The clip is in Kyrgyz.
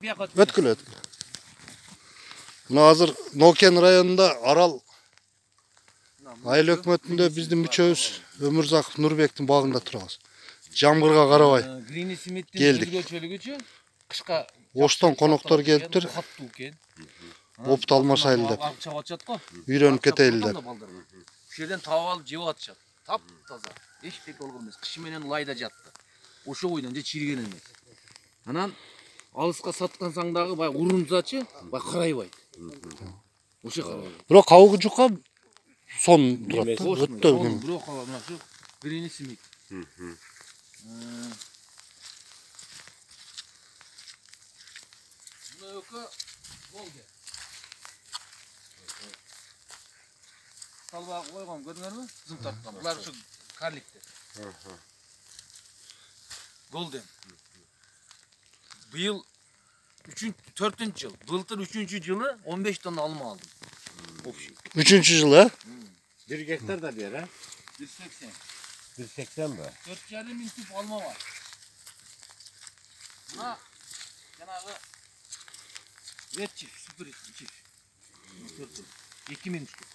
бияка Өткүлө. Мына азыр Нокен районунда Арал айыл өкмөтүндө биздин мүчөбүз Өмүрзаков Нурбектин багында турабыз. Жамгырга карабай Грини Смиттин келдик. өзгөчөлүгүчү кышка Оштон коноктор келиптир. Каттуу экен. Опут алмашайлы деп. Алып чабып атышат го. Үйрөнүп кетели деп. Ушул жерден таап алып жеп атышат. Таптаза. Эчтеке болгон эмес. Кышы менен лайда жатты. Ошо бойдон же чирген эмес. Анан алыска саткансаң дагы баягы урумсачы, баягы карайбайт. Ошо карайбайт. Бирок кабыгы жука сон турат. Өтө кем. Бирок мына ушу Грини Смит. Мына өкө болду. Салбагы койгон көрдүңөрбү? Кызым тарткан. Булар ушу карликтер. Голден. Быйыл 4-жыл. Былтыр 3-жылы 15 тонна алма алдым. Общий. 3-жылы, а? 1 гектар да бер, а? 180. 180 ба? 4,5 миң түп алма бар. Мына жанагы ретчи, супер ретчи. 2 миң түп.